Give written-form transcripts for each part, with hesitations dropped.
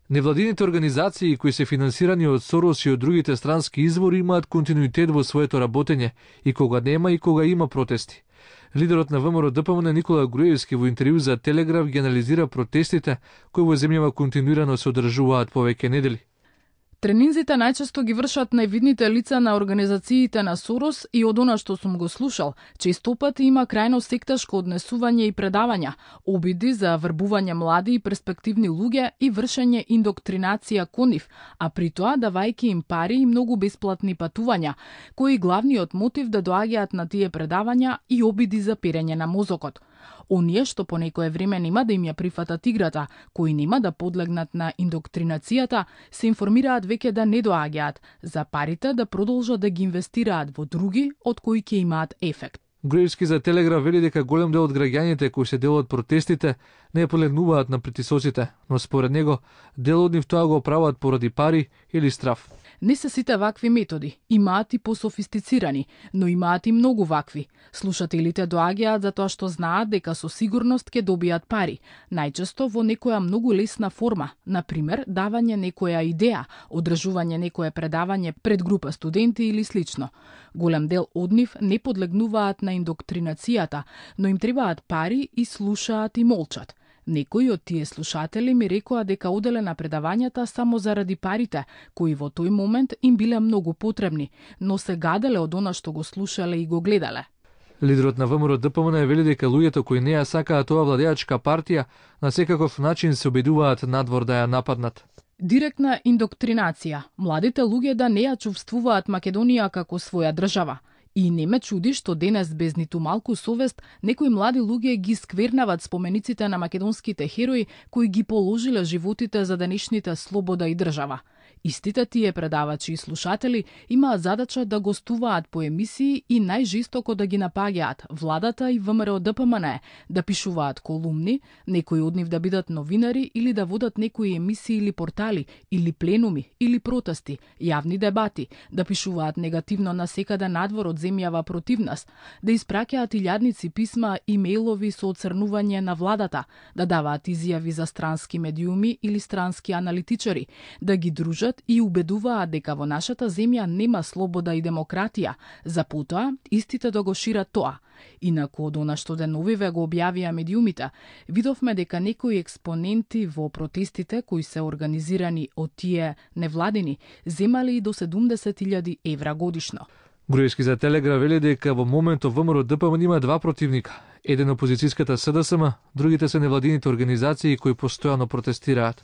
Невладините организации кои се финансирани од Сорос и од другите странски извори имаат континуитет во своето работење и кога нема и кога има протести. Лидерот на ВМРО-ДПМН Никола Груевски во интервју за Телеграф ги анализира протестите кои во земјава континуирано се одржуваат повеќе недели. Тренинзите најчесто ги вршат највидните лица на организациите на Сорос и од она што сум го слушал, често пати има крајно секташко однесување и предавања, обиди за врбување млади и перспективни луѓе и вршење индоктринација кон нив, а при тоа давајќи им пари и многу бесплатни патувања, кои главниот мотив да доаѓаат на тие предавања и обиди за перење на мозокот. Оние што по некое време нема да им ја прифатат играта, кои нема да подлегнат на индоктринацијата, се информираат веќе да не доаѓаат, за парите да продолжат да ги инвестираат во други од кои ќе имаат ефект. Груевски за Телеграф вели дека голем дел од граѓаните кои се дел од протестите не подлегнуваат на притисоците, но според него дел од нив тоа го прават поради пари или страф. Не се сите вакви методи, имаат и пософистицирани, но имаат и многу вакви. Слушателите доаѓаат затоа што знаат дека со сигурност ќе добијат пари, најчесто во некоја многу лесна форма, например давање некоја идеја, одржување некое предавање пред група студенти или слично. Голем дел од нив не подлегнуваат на индоктринацијата, но им требаат пари и слушаат и молчат. Некои од тие слушатели ми рекоа дека оделе на предавањата само заради парите, кои во тој момент им биле многу потребни, но се гаделе од она што го слушале и го гледале. Лидерот на ВМРО-ДПМН вели дека луѓето кои не ја сакаат оваа владеачка партија на секаков начин се обидуваат надвор да ја нападнат. Директна индоктринација. Младите луѓе да не ја чувствуваат Македонија како своја држава. И не ме чуди што денес без ниту малку совест некои млади луѓе ги сквернават спомениците на македонските херои кои ги положиле животите за денешните слобода и држава. Истите тие предавачи и слушатели имаат задача да гостуваат по емисии и најжестоко да ги напаѓаат владата и ВМРО-ДПМН, да пишуваат колумни, некои од нив да бидат новинари или да водат некои емисии или портали, или пленуми, или протести, јавни дебати, да пишуваат негативно на секаде надвор од земјава против нас, да испраќаат илјадници писма и мејлови со оцрнување на владата, да даваат изјави за странски медиуми или странски аналитичари, да ги дружат и убедуваат дека во нашата земја нема слобода и демократија, за потоа истите да го шират тоа. Инаку од она што деновиве го објавија медиумите, видовме дека некои експоненти во протестите кои се организирани од тие невладини земали и до 70.000 евра годишно. Груевски за Телеграф вели дека во моментов ВМРО-ДПМН има два противника. Еден опозицијската СДСМ, другите се невладините организации кои постојано протестираат.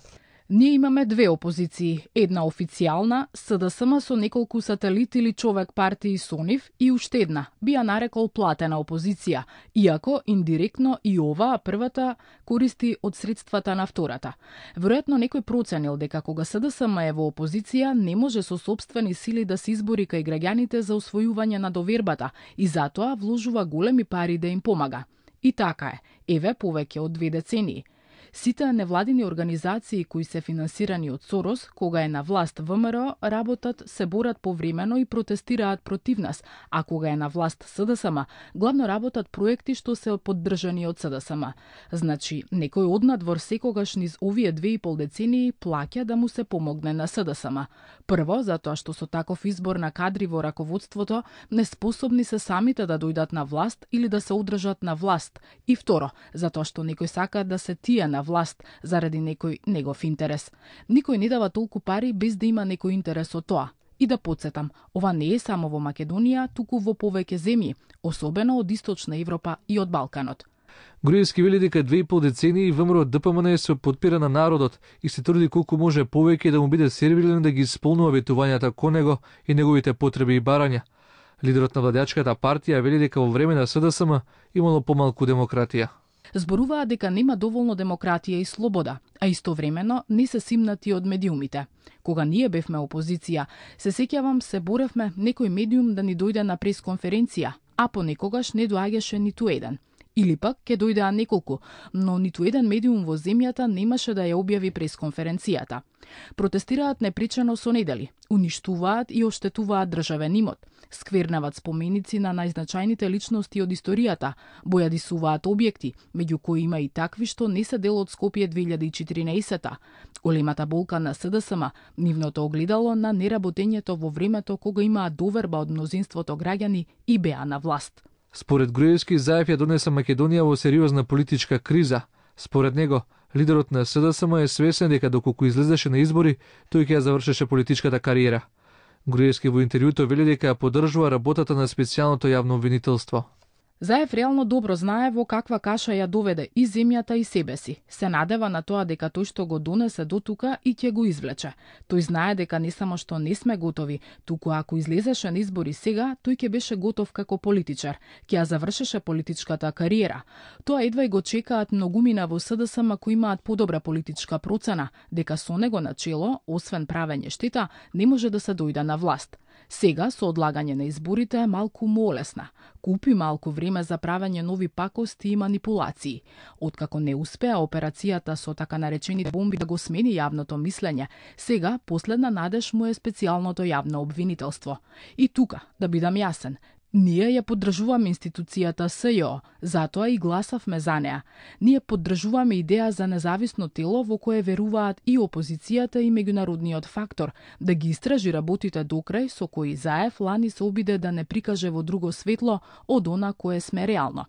Ние имаме две опозиции, една официјална, СДСМ со неколку сателит или човек партии со нив и уште една, би ја нарекол платена опозиција, иако индиректно и оваа првата користи од средствата на втората. Веројатно некој проценил дека кога СДСМ е во опозиција не може со сопствени сили да се избори кај граѓаните за освојување на довербата и затоа вложува големи пари да им помага. И така е, еве повеќе од 2 децении. Сите невладини организации кои се финансирани од Сорос, кога е на власт ВМРО, работат, се борат повремено и протестираат против нас, а кога е на власт СДСМ, главно работат проекти што се поддржани од СДСМ. Значи, некој однадвор секогаш низ овие 2,5 децении плаќа да му се помогне на СДСМ. Прво, затоа што со таков избор на кадри во раководството неспособни се самите да дојдат на власт или да се одржат на власт. И второ, затоа што некој сака да се тие на власт заради некој негов интерес. Никој не дава толку пари без да има некој интерес од тоа. И да подсетам, ова не е само во Македонија, туку во повеќе земји, особено од Источна Европа и од Балканот. Груевски вели дека 2,5 децении ВМРО-ДПМН се подпира на народот и се труди колку може повеќе да му биде сервирен да ги исполнува ветувањата кон него и неговите потреби и барања. Лидерот на владеачката партија вели дека во време на СДСМ имало помалку демократија. Зборуваат дека нема доволно демократија и слобода, а истовремено не се симнати од медиумите. Кога ние бевме опозиција, се сеќавам се боревме некој медиум да ни дојде на пресконференција, а понекогаш не доаѓаше ниту еден. Или пак ќе дојдеа неколку, но ниту еден медиум во земјата немаше да ја објави пресконференцијата. Протестираат непричано со недели, уништуваат и оштетуваат државен имот, сквернават споменици на најзначајните личности од историјата, бојадисуваат објекти, меѓу кои има и такви што не се дел од Скопје 2014-та. Големата болка на СДСМ, нивното огледало на неработењето во времето кога имаа доверба од мнозинството граѓани и беа на власт. Според Груевски, Заев ја донесе Македонија во сериозна политичка криза. Според него, лидерот на СДСМ е свесен дека доколку излезеше на избори, тој ќе ја завршеше политичката кариера. Груевски во интервјуто вели дека ја поддржува работата на специјалното јавно обвинителство. Заев реално добро знае во каква каша ја доведе и земјата и себе си. Се надева на тоа дека тој што го донесе до тука и ќе го извлече. Тој знае дека не само што не сме готови, туку ако излезеше на избори сега, тој ќе беше готов како политичар, ќе ја завршеше политичката кариера. Тоа едва и го чекаат многумина во СДСМ кои имаат подобра политичка процена, дека со него на чело, освен правење штета, не може да се дојде на власт. Сега, со одлагање на изборите, е малку молесна. Купи малку време за правење нови пакости и манипулации. Откако не успеа операцијата со така наречените бомби да го смени јавното мислење, сега последна надеж му е специјалното јавно обвинителство. И тука, да бидам јасен, ние ја поддржуваме институцијата СЈО, затоа и гласавме за неа. Ние поддржуваме идеја за независно тело во кое веруваат и опозицијата и меѓународниот фактор, да ги истражи работите докрај со кои Заев лани се обиде да не прикаже во друго светло од она кое сме реално.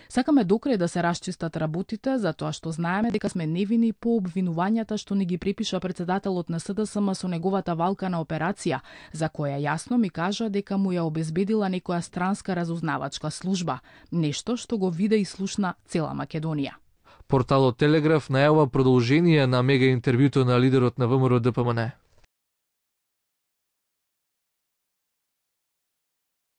Сакаме докрај да се расчистат работите, затоа што знаеме дека сме невини по обвинувањата што ни ги припиша председателот на СДСМ со неговата валкана операција, за која јасно ми кажа дека му ја обезбедила некоја странска разузнавачка служба, нешто што го виде и слушна цела Македонија. Порталот Телеграф најавува продолжение на мега интервјуто на лидерот на ВМРО ДПМН.